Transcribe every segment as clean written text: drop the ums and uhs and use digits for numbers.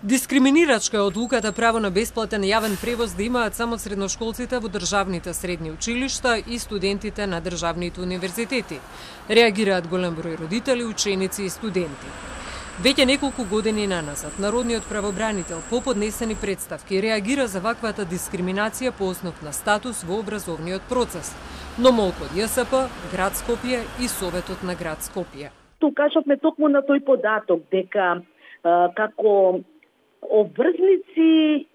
Дискриминирачка е одлуката право на бесплатен јавен превоз да имаат само средношколците во државните средни училишта и студентите на државните универзитети. Реагираат голем број родители, ученици и студенти. Веќе неколку години наназад, народниот правобранител по поднесени представки реагира за ваквата дискриминација по основ на статус во образовниот процес, но молку од ЈСП, град Скопје и Советот на град Скопје. Ту кажавме токму на тој податок дека како обврзници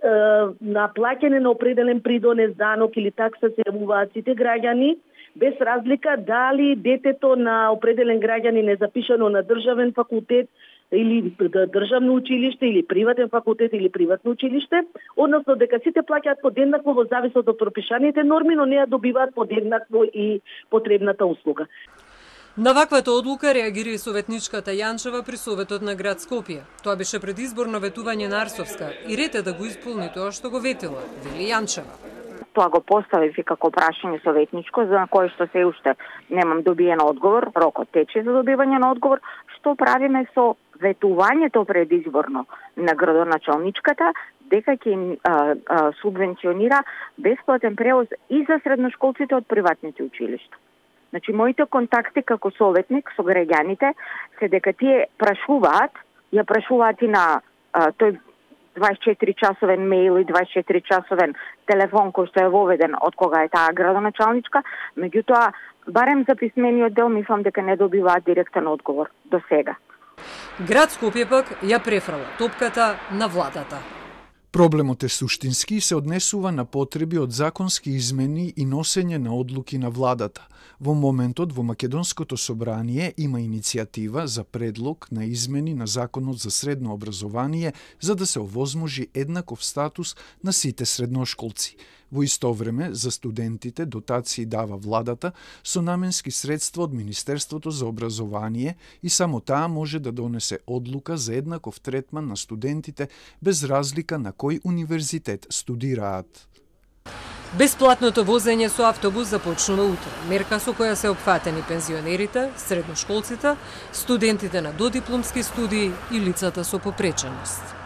на плаќање на определен придонес, данок или такса се јавуваат сите граѓани, без разлика дали детето на определен граѓанин е запишано на државен факултет или државно училиште или приватен факултет или приватно училиште, односно дека сите плаќаат подеднакво во зависност од пропишаните норми, но не ја добиваат подеднакво и потребната услуга. На ваквата одлука реагира и советничката Јанчева при Советот на град Скопје. Тоа беше предизборно ветување на Арсовска и ред е да го исполни тоа што го ветила, вели Јанчева. Тоа го поставив и како прашање советничко, за кое што се уште немам добиен одговор, рокот тече за добивање на одговор, што правиме со ветувањето предизборно на градоначалничката, дека ќе субвенционира бесплатен превоз и за средношколците од приватните училишта. Значи, моите контакти како советник со граѓаните се дека тие прашуваат и на тој 24-часовен мејл и 24-часовен телефон кој што е воведен од кога е таа градоначалничка, меѓутоа, барем за писмениот дел, мислам дека не добиваат директен одговор до сега. Град Скопје пак ја префрла топката на владата. Проблемот е суштински и се однесува на потреби од законски измени и носење на одлуки на владата. Во моментот во Македонското собрание има иницијатива за предлог на измени на Законот за средно образование за да се овозможи еднаков статус на сите средношколци. Во исто време, за студентите дотации дава владата со наменски средства од Министерството за образование и само таа може да донесе одлука за еднаков третман на студентите без разлика на кој универзитет студираат. Бесплатното возење со автобус започнува утре. Мерка со која се опфатени пензионерите, средношколците, студентите на додипломски студии и лицата со попреченост.